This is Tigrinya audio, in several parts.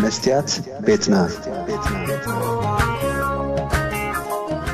መስትያት ቤትና።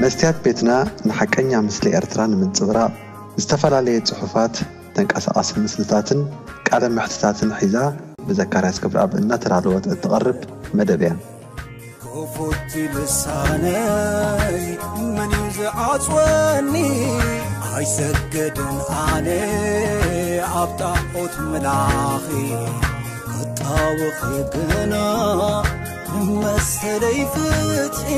መስትያት ቤትና ንሓቀኛ ምስሊ ኤርትራ ንምንጽብራቕ ዝተፈላለየ ጽሑፋት፣ ተንቀሳቓሲ ምስልታትን ቃለ መሕትታትን ሒዛ ብዘካርያስ ክብረኣብ እናተዳለወት እትቐርብ መደብ እያ። ክፉት ልሳነይ መን እዩ ዝዓጽወኒ? ኣይሰግድን ኣነ ኣብ ጣዖት ምላኺ፣ ክጣወኺ ግና መሰለይ ፍትሒ።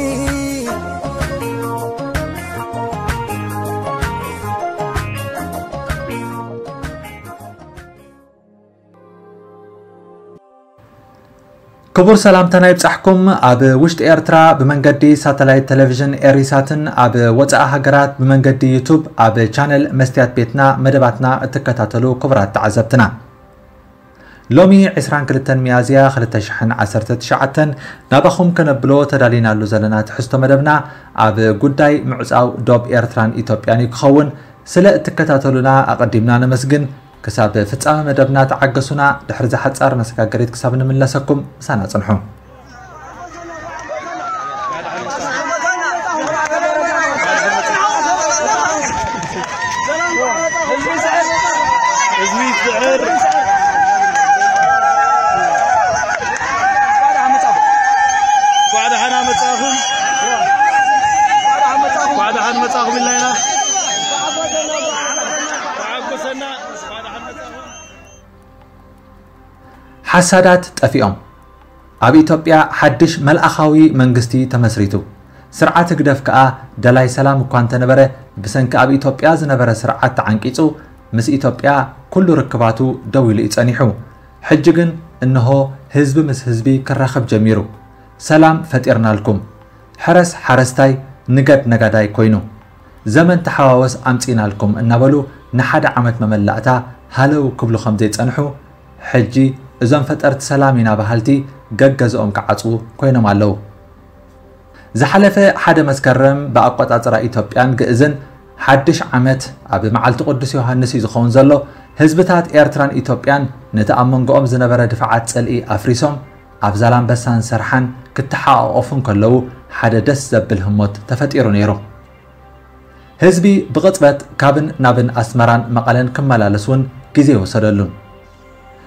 ክቡር ሰላምታና ይብጻሕኩም። ኣብ ውሽጢ ኤርትራ ብመንገዲ ሳተላይት ቴሌቪዥን ኤሪሳትን ኣብ ወጻኢ ሃገራት ብመንገዲ ዩቱብ ኣብ ቻነል መስትያት ቤትና መደባትና እትከታተሉ ክቡራት ተዓዘብትና፣ ሎሚ ዕስራን ክልተን ሚያዝያ ክልተ ሽሕን ዓሰርተ ትሽዓተን ናባኹም ከነብሎ ተዳሊናሉ ዘለና ትሕዝቶ መደብና ኣብ ጉዳይ ምዕጻው ዶብ ኤርትራን ኢትዮጵያን እዩ ክኸውን። ስለ እትከታተሉና ኣቐዲምና ነመስግን። ክሳብ ፍጻመ መደብና ተዓገሱና። ድሕሪ እዛ ሓጻር መሰጋገሪት ክሳብ ንምለሰኩም ምሳና ጽንሑ። ህዝቢ ይስዕር። እንኳዕ ደሓና መጻኹም። እንኳዕ ደሓን መጻኹም ኢልና ኢና። ተዓጎሰና። ሓሳዳት ጠፊኦም። ኣብ ኢትዮጵያ ሓድሽ መልኣኻዊ መንግስቲ ተመስሪቱ። ስርዓት ህግደፍ ከኣ ደላይ ሰላም እኳ እንተነበረ፣ ብሰንኪ ኣብ ኢትዮጵያ ዝነበረ ስርዓት ተዓንቂጹ፣ ምስ ኢትዮጵያ ኩሉ ርክባቱ ደው ኢሉ እዩ ጸኒሑ። ሕጂ ግን እንሆ ህዝቢ ምስ ህዝቢ ክራኸብ ጀሚሩ። ሰላም ፈጢርናልኩም። ሕረስ ሓረስታይ፣ ንገድ ነጋዳይ ኮይኑ፣ ዘመን ተሓዋወስ ኣምጺእናልኩም እናበሉ ንሓደ ዓመት መመላእታ ሃለው ክብሉ ከም ዘይጸንሑ፣ ሕጂ እዞም ፈጠርቲ ሰላም ኢና በሃልቲ ገገዝኦም ክዓጽዉ ኮይኖም ኣለዉ። ዝሓለፈ ሓደ መስከረም ብኣቆጻጽራ ኢትዮጵያን ግእዝን ሓድሽ ዓመት ኣብ መዓልቲ ቅዱስ ዮሃንስ እዩ ዝኸውን ዘሎ። ህዝብታት ኤርትራን ኢትዮጵያን ነቲ ኣብ መንጎኦም ዝነበረ ድፋዓት ጽልኢ ኣፍሪሶም፣ ኣብ ዛላምበሳን ሰርሓን ክተሓቋቖፉ እንከለዉ ሓደ ደስ ዘብል ህሞት ተፈጢሩ ነይሩ። ህዝቢ ብቕጽበት ካብን ናብን ኣስመራን መቐለን ክመላለስ እውን ግዜ ወሰደሉን።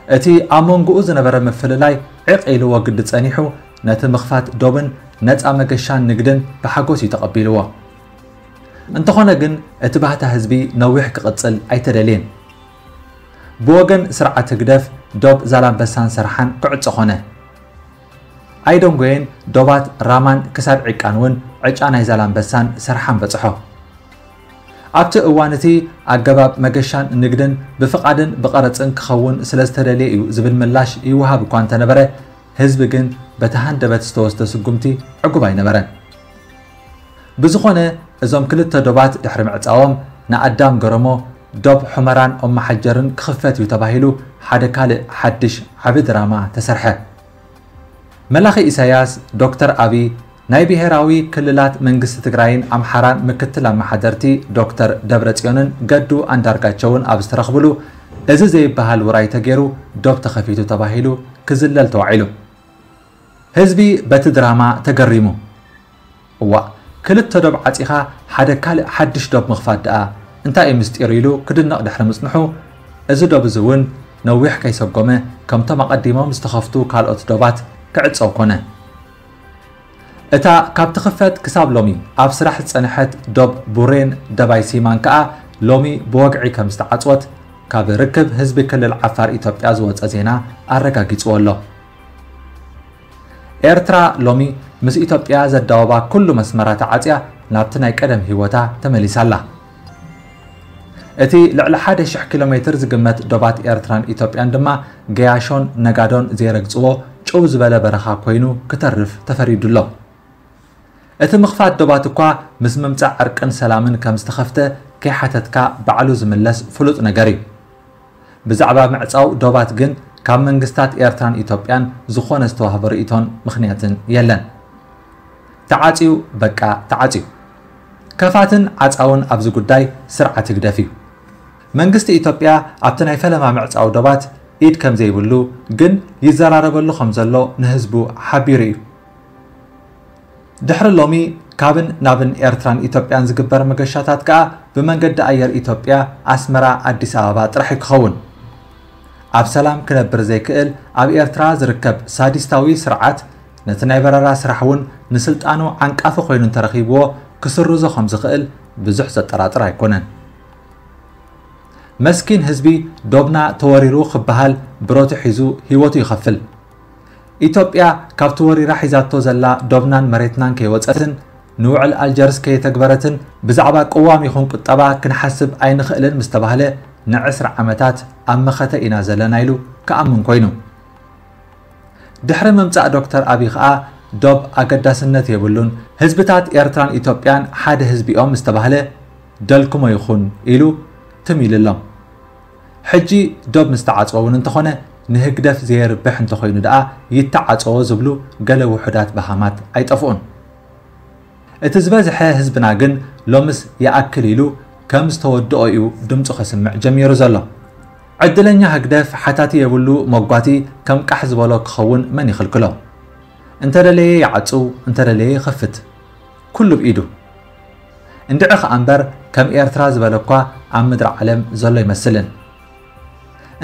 እቲ ኣብ መንጎኡ ዝነበረ ምፍልላይ ዕቕ ኢልዎ ግዲ ጸኒሑ፣ ነቲ ምኽፋት ዶብን ነጻ መገሻን ንግድን ብሓጎስ እዩ ተቐቢልዎ። እንተኾነ ግን እቲ ባህታ ህዝቢ ነዊሕ ክቕጽል ኣይተደልየን። ብወገን ስርዓት ህግደፍ ዶብ ዛላምበሳን ሰርሓን ክዕጾ ኾነ። ኣይደንጎየን ዶባት ራማን ክሳብ ዒቃን እውን ዕጫ ናይ ዛላምበሳን ሰርሓን በጽሖ። ኣብቲ እዋን እቲ ኣገባብ መገሻን ንግድን ብፍቓድን ብቐረጽን ክኸውን ስለ ዝተደልየ እዩ ዝብል ምላሽ ይወሃብ እኳ እንተነበረ፣ ህዝቢ ግን በቲ ሃንደበት ዝተወስደ ስጉምቲ ዕጉብ ኣይነበረን። ብዝኾነ፣ እዞም ክልተ ዶባት ድሕሪ ምዕጻዎም ንኣዳም ገረሞ ዶብ ሑመራን ኦማሓጀርን ክኽፈት እዩ ተባሂሉ ሓደ ካልእ ሓድሽ ዓቢ ድራማ ተሰርሐ። መላኺ ኢሳያስ፣ ዶክተር ኣቢ፣ ናይ ብሄራዊ ክልላት መንግስቲ ትግራይን ኣምሓራን ምክትል ኣመሓደርቲ ዶክተር ደብረጽዮንን ገዱ ኣንዳርጋቸውን ኣብ ዝተረኽብሉ፣ እዚ ዘይበሃል ውራይ ተገይሩ ዶብ ተኸፊቱ ተባሂሉ ክዝለል ተዋዒሉ። ህዝቢ በቲ ድራማ ተገሪሙ። እዋእ፣ ክልተ ዶብ ዓጺኻ ሓደ ካልእ ሓድሽ ዶብ ምኽፋት ደኣ እንታይ እዩ ምስጢሩ ኢሉ ክድነቕ ድሕሪ ምጽንሑ፣ እዚ ዶብ እዚ እውን ነዊሕ ከይሰጎመ ከምቶም ኣቐዲሞም ዝተኸፍቱ ካልኦት ዶባት ክዕጸው ኮነ። እታ ካብ ትኽፈት ክሳብ ሎሚ ኣብ ስራሕ ዝጸንሐት ዶብ ቡሬን ደባይ ሲማን ከኣ ሎሚ ብወግዒ ከም ዝተዓጽወት ካብ ርክብ ህዝቢ ክልል ዓፋር ኢትዮጵያ ዝወጸ ዜና ኣረጋጊጽዎ ኣሎ። ኤርትራ ሎሚ ምስ ኢትዮጵያ ዘዳወባ ኩሉ መስመራ ተዓጽያ ናብቲ ናይ ቀደም ህይወታ ተመሊሳ ኣላ። እቲ ልዕሊ ሓደ ሽሕ ኪሎ ሜትር ዝግመት ዶባት ኤርትራን ኢትዮጵያን ድማ ገያሾን ነጋዶን ዘይረግጽዎ ጭው ዝበለ በረኻ ኮይኑ ክተርፍ ተፈሪዱ ኣሎ። እቲ ምኽፋት ዶባት እኳ ምስ ምምጻእ ዕርቅን ሰላምን ከም ዝተኸፍተ ከይሓተትካ ባዕሉ ዝምለስ ፍሉጥ ነገር እዩ። ብዛዕባ ምዕጻው ዶባት ግን ካብ መንግስታት ኤርትራን ኢትዮጵያን ዝኾነ ዝተዋህበ ርእይቶን ምኽንያትን የለን። ተዓጽዩ፣ በቃ ተዓጽዩ። ከፋትን ዓጻውን ኣብዚ ጉዳይ ስርዓት ህግደፍ እዩ። መንግስቲ ኢትዮጵያ ኣብቲ ናይ ፈለማ ምዕጻው ዶባት ኢድ ከም ዘይብሉ ግን ይዘራረበሉ ከም ዘሎ ንህዝቡ ሓቢሩ እዩ። ድሕሪ ሎሚ ካብን ናብን ኤርትራን ኢትዮጵያን ዝግበር መገሻታት ከኣ ብመንገዲ ኣየር ኢትዮጵያ ኣስመራ ኣዲስ ኣበባ ጥራሕ እዩ ክኸውን። ኣብ ሰላም ክነብር ዘይክእል ኣብ ኤርትራ ዝርከብ ሳዲስታዊ ስርዓት ነቲ ናይ በረራ ስራሕ እውን ንስልጣኑ ዓንቃፊ ኮይኑ እንተረኺብዎ ክስርዞ ከም ዝኽእል ብዙሕ ዘጠራጥር ኣይኮነን። መስኪን ህዝቢ ዶብና ተወሪሩ ክበሃል ብረቱ ሒዙ ህይወቱ ይኸፍል። ኢትዮጵያ ካብቲ ወሪራ ሒዛቶ ዘላ ዶብናን መሬትናን ከይወጸትን ንውዕል ኣልጀርስ ከየተግበረትን ብዛዕባ ቅዋም ይኹን ቁጠባ ክንሓስብ ኣይንኽእልን ምስ ተባህለ ንዕስራ ዓመታት ኣብ መኸተ ኢና ዘለና ኢሉ ክኣምን ኮይኑ። ድሕሪ ምምጻእ ዶክተር ኣቢ ኸኣ ዶብ ኣገዳስነት የብሉን፣ ህዝብታት ኤርትራን ኢትዮጵያን ሓደ ህዝቢ እዮም ምስ ተባህለ ደልክሞ ይኹን ኢሉ ትም ኢሉሎም። ሕጂ ዶብ ምስ ተዓጽወ እውን እንተኾነ ንህግደፍ ዘየርብሕ እንተኾይኑ ደኣ ይተዓጸዎ ዝብሉ ገለ ውሑዳት በሃማት ኣይጠፍኡን። እቲ ዝበዝሐ ህዝብና ግን ሎምስ ይኣክል ኢሉ ከም ዝተወድኦ እዩ ድምፁ ከስምዕ ጀሚሩ ዘሎ። ዕድለኛ ህግደፍ ሓታቲ የብሉ መጓቲ ከም ቃሕ ዝበሎ ክኸውን መን ይኽልክሎ? እንተደለየ ይዓጽው፣ እንተደለየ ይኸፍት። ኩሉ ብኢዱ። እንድዒ ኸኣ እምበር ከም ኤርትራ ዝበለ እኳ ኣብ ምድሪ ዓለም ዘሎ ኣይመስልን።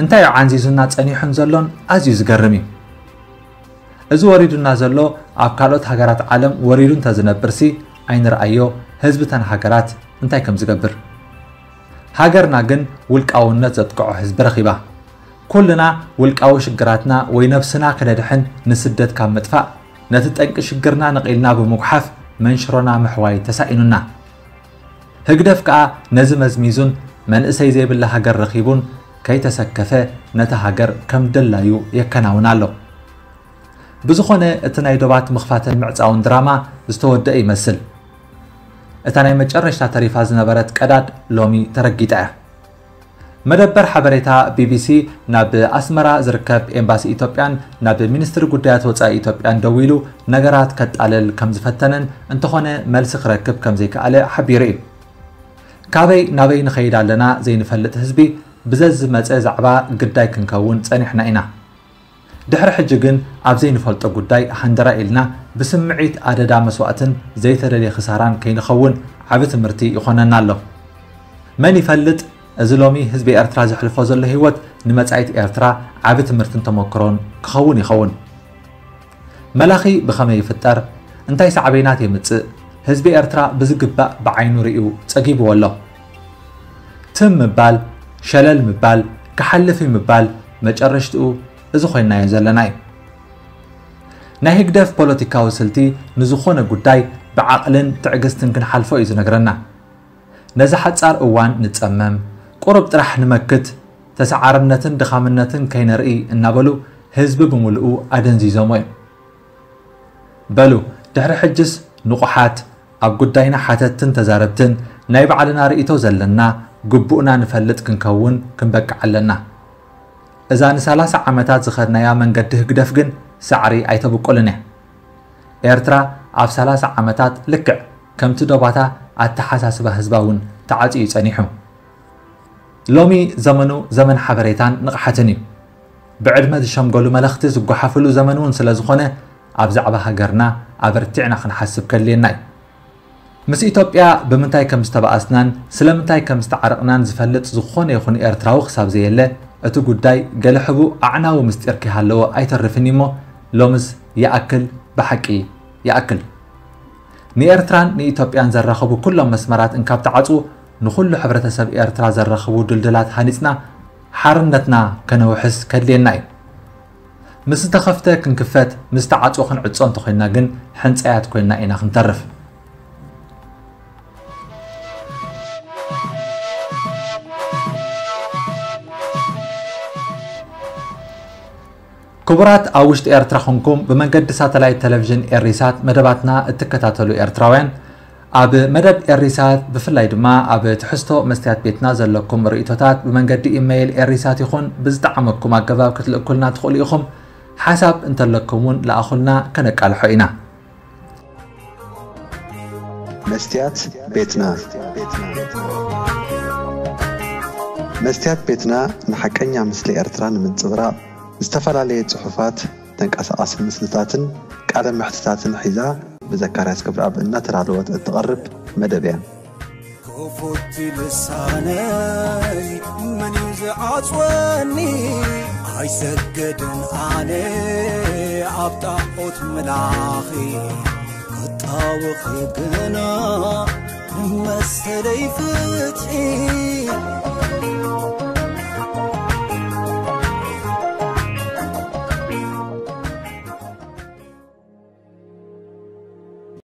እንታይ እዩ ዓንዚዙና ጸኒሑን ዘሎን ኣዝዩ ዝገርም እዩ። እዚ ወሪዱና ዘሎ ኣብ ካልኦት ሃገራት ዓለም ወሪዱ እንተዝነብርሲ ኣይንርኣዮ ህዝቢ እተን ሃገራት እንታይ ከም ዝገብር። ሃገርና ግን ውልቃውነት ዘጥቅዖ ህዝቢ ረኺባ። ኩልና ውልቃዊ ሽግራትና ወይ ነብስና ክነድሕን ንስደት ካብ ምጥፋእ ነቲ ጠንቂ ሽግርና ነቒልና ብምጉሓፍ መንሽሮና ምሕዋይ ተሳኢኑና። ህግደፍ ከኣ ነዚ መዝሚዙን መንእሰይ ዘይብላ ሃገር ረኺቡን ከይተሰከፈ ነታ ሃገር ከም ደላዩ የከናውን ኣሎ። ብዝኾነ እቲ ናይ ዶባት ምኽፋትን ምዕጻውን ድራማ ዝተወደአ ይመስል። እታ ናይ መጨረሽታ ተሪፋ ዝነበረት ቀዳድ ሎሚ ተረጊጣ እያ። መደበር ሓበሬታ ቢቢሲ ናብ ኣስመራ ዝርከብ ኤምባሲ ኢትዮጵያን ናብ ሚኒስትሪ ጉዳያት ወጻኢ ኢትዮጵያን ደዊሉ ነገራት ከጣልል ከም ዝፈተነን እንተኾነ መልሲ ክረክብ ከም ዘይከኣለ ሓቢሩ እዩ። ካበይ ናበይ ንኸይድ ኣለና ዘይንፈልጥ ህዝቢ ብዘዝመጸ ዛዕባ ግዳይ ክንከውን ጸኒሕና ኢና። ድሕሪ ሕጂ ግን ኣብ ዘይንፈልጦ ጉዳይ ሃንደራ ኢልና ብስምዒት ኣደዳ መስዋእትን ዘይተደልየ ክሳራን ከይንኸውን ዓቢ ትምህርቲ ይኾነና ኣሎ። መን ይፈልጥ፣ እዚ ሎሚ ህዝቢ ኤርትራ ዘሕልፎ ዘሎ ህይወት ንመጻኢት ኤርትራ ዓቢ ትምህርትን ተመክሮን ክኸውን ይኸውን። መላኺ ብኸመይ ይፍጠር? እንታይ ሳዕቤናት የምጽእ? ህዝቢ ኤርትራ ብዝግባእ ብዓይኑ ርእዩ ጸጊብዎ ኣሎ። ትም ምባል፣ ሸለል ምባል፣ ክሓልፍ እዩ ምባል መጨረሽትኡ እዚ ኮይናዮ ዘለና እዩ። ናይ ህግደፍ ፖለቲካዊ ስልቲ ንዝኾነ ጉዳይ ብዓቕልን ትዕግስትን ክንሓልፎ እዩ ዝነግረና። ነዚ ሓጻር እዋን ንጸመም፣ ቁሩብ ጥራሕ ንመክት፣ ተሰዓርነትን ድኻምነትን ከይነርኢ እናበሉ ህዝቢ ብምልኡ ኣደንዚዞሞ እዮም። በሉ፣ ድሕሪ ሕጅስ ንቑሓት፣ ኣብ ጉዳይና ሓተትትን ተዛረብትን፣ ናይ ባዕልና ርእይቶ ዘለና፣ ግቡእና ንፈልጥ ክንከውን ክንበቅዕ ኣለና። እዛ ንሰላሳ ዓመታት ዝኸድናያ መንገዲ ህግደፍ ግን ሳዕሪ ኣይተብቁልን እያ። ኤርትራ ኣብ ሰላሳ ዓመታት ልክዕ ከምቲ ዶባታ ኣተሓሳስባ ህዝባ እውን ተዓጽዩ ጸኒሑ። ሎሚ ዘመኑ ዘመን ሓበሬታን ንቕሓትን እዩ። ብዕድመ ዝሸምገሉ መለኽቲ ዝጓሓፍሉ ዘመን እውን ስለ ዝኾነ ኣብ ዛዕባ ሃገርና ኣበርቲዕና ክንሓስብ ከድልየና እዩ። ምስ ኢትዮጵያ ብምንታይ ከም ዝተባኣስናን ስለምንታይ ከም ዝተዓረቕናን ዝፈልጥ ዝኾነ ይኹን ኤርትራዊ ክሳብ ዘየለ እቲ ጉዳይ ገለ ሕቡእ ኣዕናዊ ምስጢር ከይሃለዎ ኣይተርፍን እዩ እሞ ሎምስ ይኣክል ብሓቂ ይኣክል። ንኤርትራን ንኢትዮጵያን ዘራኽቡ ኩሎም መስመራት እንካብ ተዓጽዉ ንኹሉ ሕብረተሰብ ኤርትራ ዘራኽቡ ድልድላት ሃኒጽና ሓርነትና ከነውሕስ ከድልየና እዩ። ምስ ዝተኸፍተ ክንክፈት ምስ ተዓጽዎ ክንዕጾ እንተኾይንና ግን ሕንጻያት ኮይንና ኢና ክንተርፍ። ክቡራት ኣብ ውሽጢ ኤርትራ ኾንኩም ብመንገዲ ሳተላይት ቴሌቪዥን ኤሪሳት መደባትና እትከታተሉ ኤርትራውያን ኣብ መደብ ኤሪሳት ብፍላይ ድማ ኣብ ትሕዝቶ መስትያት ቤትና ዘለኩም ርእይቶታት ብመንገዲ ኢመይል ኤሪሳት ይኹን ብዝጠዓመኩም ኣገባብ ክትልእኩልና ትኽእሉ ኢኹም። ሓሳብ እንተለኩም እውን ለኣኹልና ከነቃልሖ ኢና። መስትያት ቤትና። መስትያት ቤትና ንሓቀኛ ምስሊ ኤርትራ ንምንጽብራቕ ዝተፈላለየ ጽሑፋት፣ ተንቀሳቓሲ ምስልታትን ቃለ መሕትታትን ሒዛ ብዘካርያስ ክብረኣብ እናተዳለወት እትቐርብ መደብ እያ። ክፉት ልሳነይ መን እዩ ዝዓጽወኒ? ኣይሰገድን ኣነ ኣብ ጣዖት ምላኺ ክጣወኺ ግና መሰለይ ፍትሒ